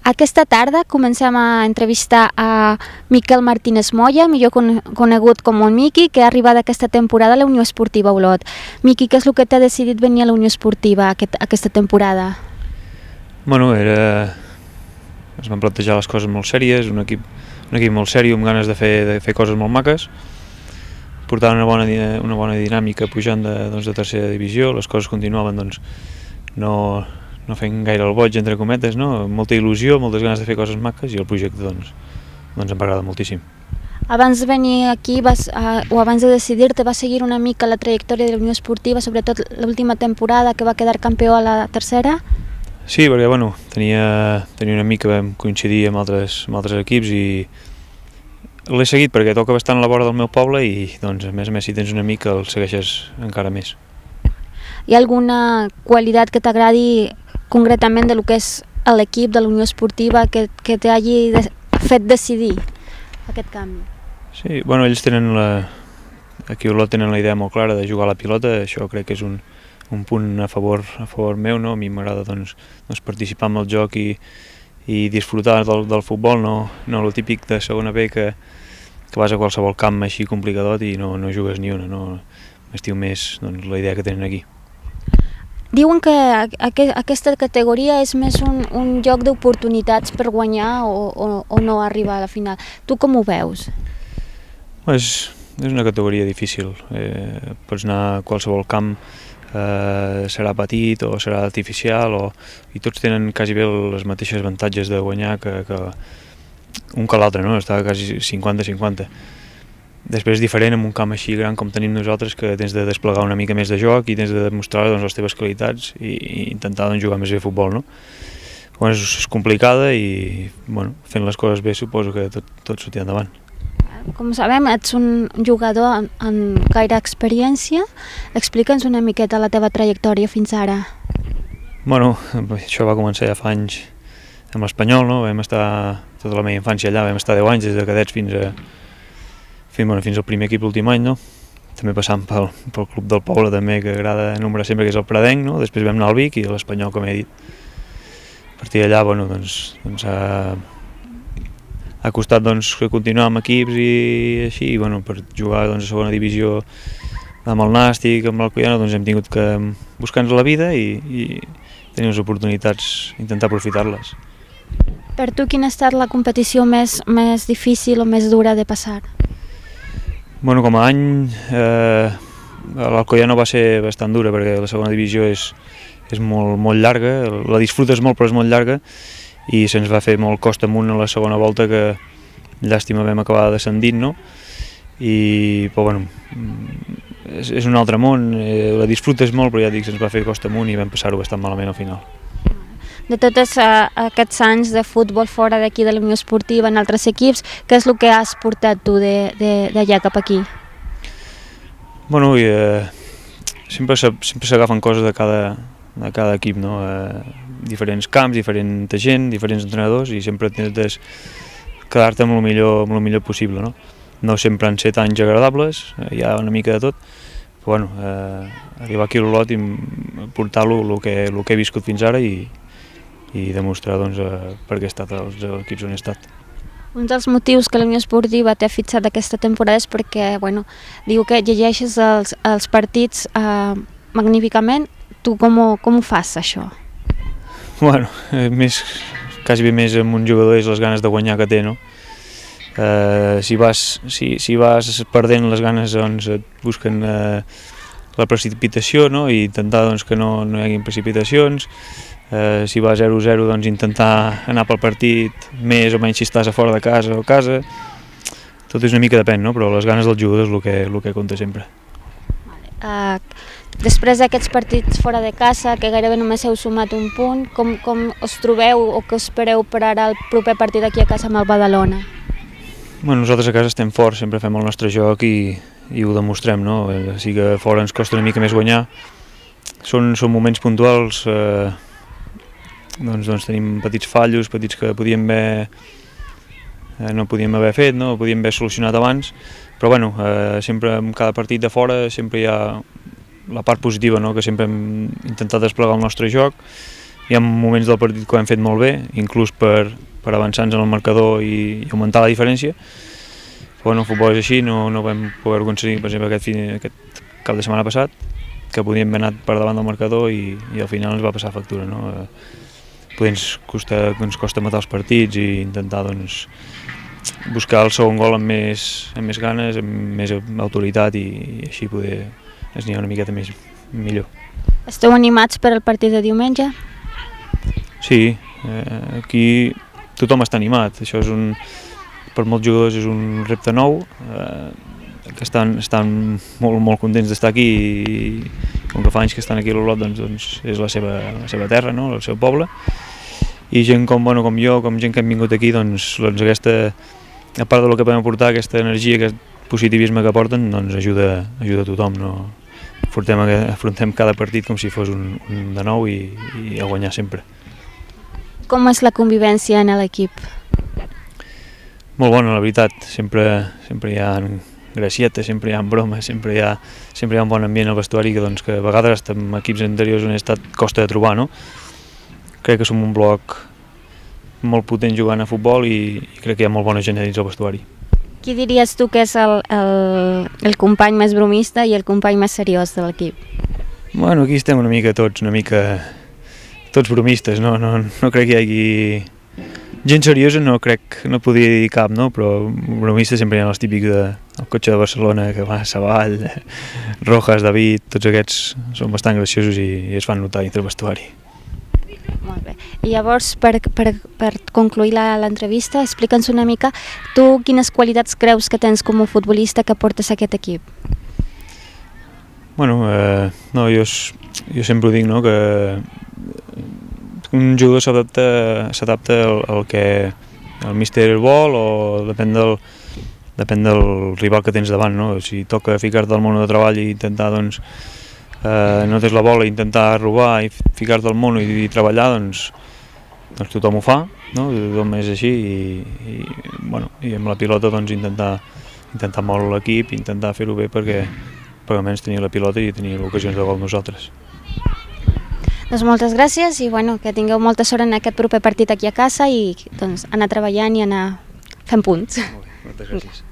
Aquesta tarda comencem a entrevistar a Miquel Martínez Moya, millor conegut com el Miqui, que ha arribat aquesta temporada a la Unió Esportiva Olot. Miqui, què és el que t'ha decidit venir a la Unió Esportiva aquesta temporada? Bueno, es van plantejar les coses molt sèries, un equip molt sèrio, amb ganes de fer coses molt maques, portaven una bona dinàmica pujant de tercera divisió, les coses continuaven no fent gaire el boig, entre cometes, molta il·lusió, moltes ganes de fer coses maques i el projecte em va agradar moltíssim. Abans de venir aquí o abans de decidir-te, vas seguir una mica la trajectòria de la Unió Esportiva, sobretot l'última temporada que va quedar campió a la tercera? Sí, perquè tenia un amic que vam coincidir amb altres equips i l'he seguit perquè toca bastant a la vora del meu poble i a més si tens un amic el segueixes encara més. Hi ha alguna qualitat que t'agradi concretament de lo que és l'equip de la Unió Esportiva que t'hagi fet decidir aquest canvi? Sí, ells aquí a Olot tenen la idea molt clara de jugar a la pilota, això crec que és un punt a favor meu, a mi m'agrada participar en el joc i disfrutar del futbol, no el típic de segona B que vas a qualsevol camp així complicadot i no jugues ni una, m'estiu més la idea que tenen aquí. Diuen que aquesta categoria és més un joc d'oportunitats per guanyar o no arribar a la final. Tu com ho veus? És una categoria difícil. Pots anar a qualsevol camp, serà petit o serà artificial, i tots tenen quasi bé les mateixes avantatges de guanyar un que l'altre, està quasi 50-50. Després és diferent en un camp així gran com tenim nosaltres, que tens de desplegar una mica més de joc i tens de demostrar les teves qualitats i intentar jugar més bé a futbol. És complicada i fent les coses bé suposo que tot sortirà endavant. Com sabem, ets un jugador amb gaire experiència. Explica'ns una miqueta la teva trajectòria fins ara. Això va començar ja fa anys amb l'Espanyol, vam estar tota la meva infància allà, vam estar 10 anys des de cadets fins al primer equip l'últim any, també passant pel club del poble també, que agrada nombrar sempre, que és el Pradenc, després vam anar al Vic i l'Espanyol, com he dit. A partir d'allà ha costat continuar amb equips i així, per jugar a segona divisió amb el Nàstic, amb l'Alcoiana, hem tingut que buscar-nos la vida i tenir les oportunitats, intentar aprofitar-les. Per tu, quina ha estat la competició més difícil o més dura de passar? Com a any, l'Alcoiano va ser bastant dura perquè la segona divisió és molt llarga, la disfrutes molt però és molt llarga i se'ns va fer molt costa amunt a la segona volta, que llàstima vam acabar descendint, però és un altre món, la disfrutes molt però ja dic, se'ns va fer costa amunt i vam passar-ho bastant malament al final. De tots aquests anys de futbol fora d'aquí de la Unió Esportiva en altres equips, què és el que has portat tu d'allà cap aquí? Sempre s'agafen coses de cada equip, diferents camps, diferent gent, diferents entrenadors, i sempre intentes quedar-te amb el millor possible. No sempre han set anys agradables, hi ha una mica de tot, però arribar aquí a l'Olot i portar-lo el que he viscut fins ara i demostrar per què he estat als equips on he estat. Un dels motius que la Unió Esportiva t'ha fitxat aquesta temporada és perquè diu que llegeixes els partits magníficament. Tu com ho fas, això? Quasi bé més amb un jugador és les ganes de guanyar que té, Si vas perdent les ganes, et busquen la precipitació i intentar que no hi hagi precipitacions. Si va 0-0, intentar anar pel partit més o menys si estàs a fora de casa o a casa. Tot és una mica depèn, però les ganes del jugador és el que compta sempre. Després d'aquests partits fora de casa, que gairebé només heu sumat un punt, com us trobeu o què espereu per ara el proper partit aquí a casa amb el Badalona? Nosaltres a casa estem forts, sempre fem el nostre joc i ho demostrem. Sí que fora ens costa una mica més guanyar. Són moments puntuals, tenim petits fallos, petits que no podíem haver fet, podíem haver solucionat abans, però sempre en cada partit de fora sempre hi ha la part positiva, que sempre hem intentat desplegar el nostre joc, hi ha moments del partit que ho hem fet molt bé, inclús per avançar-nos en el marcador i augmentar la diferència. Però bueno, el futbol és així, no vam poder aconseguir, per exemple, aquest cap de setmana passat, que podíem haver anat per davant del marcador i al final ens va passar factura. Poder ens costa matar els partits i intentar buscar el segon gol amb més ganes, amb més autoritat i així poder esniar una miqueta millor. Esteu animats per al partit de diumenge? Sí, aquí tothom està animat. Això per molts jugadors és un repte nou, que estan molt contents d'estar aquí i com que fa anys que estan aquí a l'Olot doncs és la seva terra, el seu poble. I gent com jo, com gent que hem vingut aquí, doncs aquesta, a part del que podem aportar, aquesta energia, aquest positivisme que aporten, doncs ajuda a tothom. Afrontem cada partit com si fos un de nou i a guanyar sempre. Com és la convivència en l'equip? Molt bona, la veritat. Sempre hi ha gracietes, sempre hi ha bromes, sempre hi ha un bon ambient al vestuari que a vegades en equips anteriors on he estat costa de trobar. Crec que som un bloc molt potent jugant a futbol i crec que hi ha molt bona gent dins el vestuari. Qui diries tu que és el company més bromista i el company més seriós de l'equip? Bueno, aquí estem una mica tots bromistes, no crec que hi hagi... Gent seriosa no podria dir cap, però bromistes sempre hi ha els típics del cotxe de Barcelona que va a Savall, Rojas, David, tots aquests són bastant graciosos i es fan notar dintre el vestuari. Molt bé. I llavors, per concluir l'entrevista, explica'ns una mica tu quines qualitats creus que tens com a futbolista que portes a aquest equip? Bueno, jo sempre ho dic, que un jugador s'adapta al que el míster vol o depèn del rival que tens davant. Si toca ficar-te al món de treball i intentar, no tens la bola, intentar robar i ficar-te al món i treballar, doncs tothom ho fa, tothom és així i amb la pilota intentar moure l'equip, intentar fer-ho bé perquè almenys tenir la pilota i tenir ocasions de gol nosaltres. Doncs moltes gràcies i que tingueu molta sort en aquest proper partit aquí a casa i anar treballant i anar fent punts. Molt bé, moltes gràcies.